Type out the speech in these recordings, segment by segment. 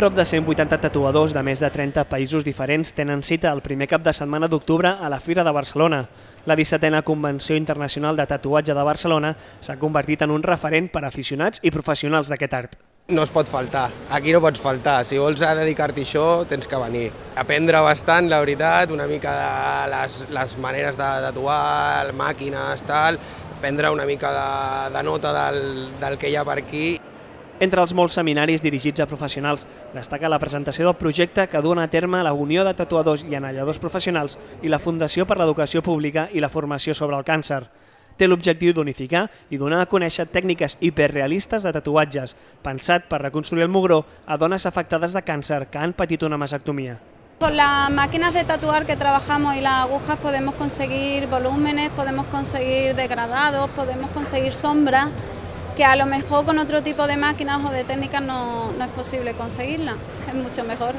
Prop de 180 tatuadors de més de 30 països diferents tenen cita el primer cap de setmana d'octubre a la Fira de Barcelona. La 17a Convenció Internacional de Tatuatge de Barcelona s'ha convertit en un referent per a aficionats i professionals d'aquest art. No es pot faltar, aquí no pots faltar. Si vols dedicar-t'hi a això, tens que venir. Aprendre bastant, la veritat, una mica de les maneres de tatuar, màquines, tal, prendre una mica de nota del que hi ha per aquí. Entre els molts seminaris dirigits a professionals, destaca la presentació del projecte que duen a terme la Unió de Tatuadors i Anelladors Professionals i la Fundació per l'Educació Pública i la Formació sobre el Càncer. Té l'objectiu d'unificar i donar a conèixer tècniques hiperrealistes de tatuatges, pensat per reconstruir el mugró a dones afectades de càncer que han patit una mastectomía. Con las máquinas de tatuar que trabajamos y las agujas podemos conseguir volúmenes, podemos conseguir degradados, podemos conseguir sombras, que a lo mejor con otro tipo de máquinas o de técnicas no es posible conseguirla, es mucho mejor.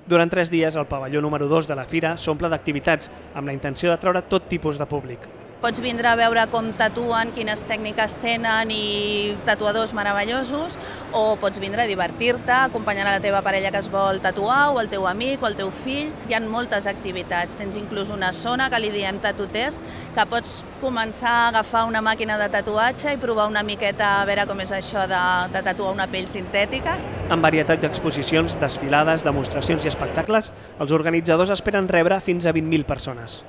Durant 3 dies, el pavelló número 2 de la Fira s'omple d'activitats amb la intenció d'atraure tot tipus de públic. Pots vindre a veure com tatuen, quines tècniques tenen i tatuadors meravellosos, o pots vindre a divertir-te, acompanyant a la teva parella que es vol tatuar, o el teu amic, o el teu fill. Hi ha moltes activitats. Tens inclús una zona que li diem tatutest, que pots començar a agafar una màquina de tatuatge i provar una miqueta a veure com és això de tatuar una pell sintètica. Amb varietat d'exposicions, desfilades, demostracions i espectacles, els organitzadors esperen rebre fins a 20.000 persones.